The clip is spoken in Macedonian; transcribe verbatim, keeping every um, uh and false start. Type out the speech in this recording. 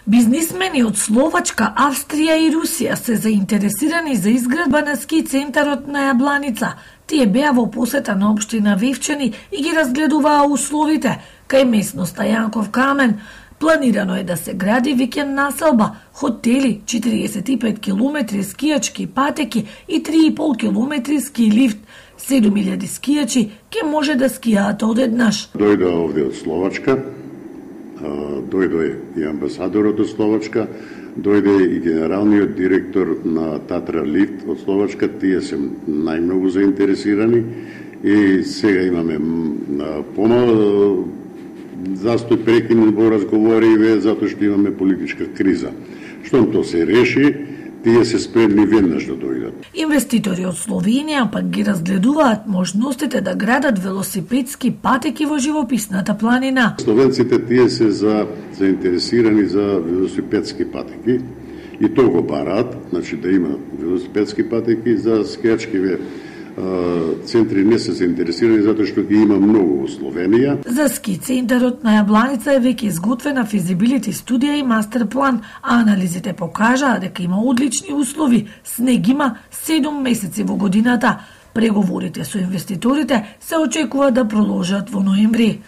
Бизнисмени од Словачка, Австрија и Русија се заинтересирани за изградба на ски центарот на Јабланица. Тие беа во посета на општина Вевчани и ги разгледуваа условите кај местноста Јанков камен. Планирано е да се гради викенд населба, хотели, четириесет и пет километри скијачки патеки и три и пол километри ски лифт. седум илјади скијачи ќе може да скијаат одеднаш. Дојде овде од Словачка, дојде и амбасадорот од Словачка, дојде и генералниот директор на Татра Лифт од Словачка, тие се најмногу заинтересирани и сега имаме помал застој прекинет во разговориве затоа што имаме политичка криза. Штом тоа се реши, тие се спремни веднаш да дојдат. Инвеститори од Словенија пак ги разгледуваат можностите да градат велосипедски патеки во живописната планина. Словенците тие се за заинтересирани за велосипедски патеки и тоа го бараат, значи да има велосипедски патеки, за скијачкиве центри не се заинтересирани затоа што ги има многу во Словенија. За ски центарот на Јабланица е веќе изготвена физибилити студија и мастер план, а анализите покажаа дека има одлични услови, снег има седум месеци во годината. Преговорите со инвеститорите се очекува да продолжат во ноември.